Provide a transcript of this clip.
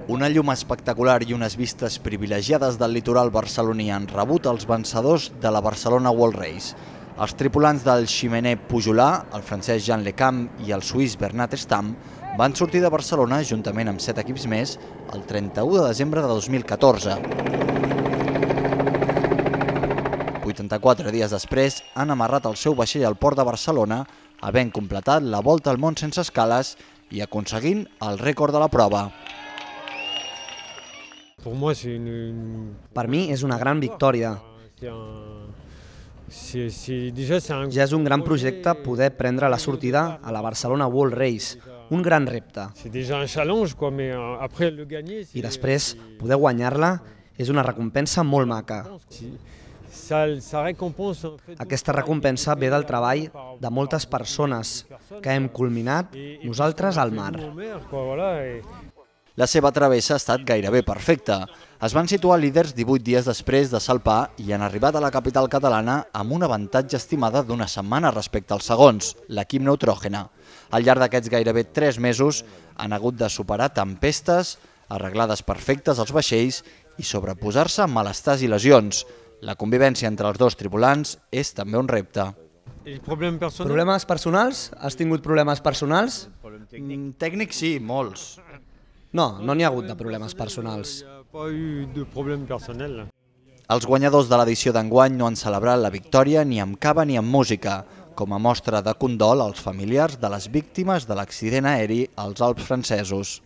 Una llum espectacular i unes vistes privilegiades del litoral barceloní han rebut els vencedors de la Barcelona World Race. Els tripulants del ximener Pujolà, el francès Jean Lecam i el suís Bernat Stam, van sortir de Barcelona juntament amb 7 equips més el 31 de desembre de 2014. 84 dies després han amarrat el seu vaixell al port de Barcelona, havent completat la volta al món sense escales i aconseguint el rècord de la prova. Per mi és una gran victòria. Ja és un gran projecte poder prendre la sortida a la Barcelona World Race, un gran repte. I després, poder guanyar-la és una recompensa molt maca. Aquesta recompensa ve del treball de moltes persones que hem culminat nosaltres al mar. La seva travessa ha estat gairebé perfecta. Es van situar líders 18 dies després de salpar i han arribat a la capital catalana amb un avantatge estimada d'una setmana respecte als segons, l'equip Neutrògena. Al llarg d'aquests gairebé 3 mesos han hagut de superar tempestes, arreglades perfectes als vaixells i sobreposar-se a malestars i lesions. La convivència entre els dos tripulants és també un repte. Problemes personals? Has tingut problemes personals? Tècnics sí, molts. No, no n'hi ha hagut de problemes personals. Els guanyadors de l'edició d'enguany no han celebrat la victòria ni amb cava ni amb música, com a mostra de condol als familiars de les víctimes de l'accident aeri als Alps francesos.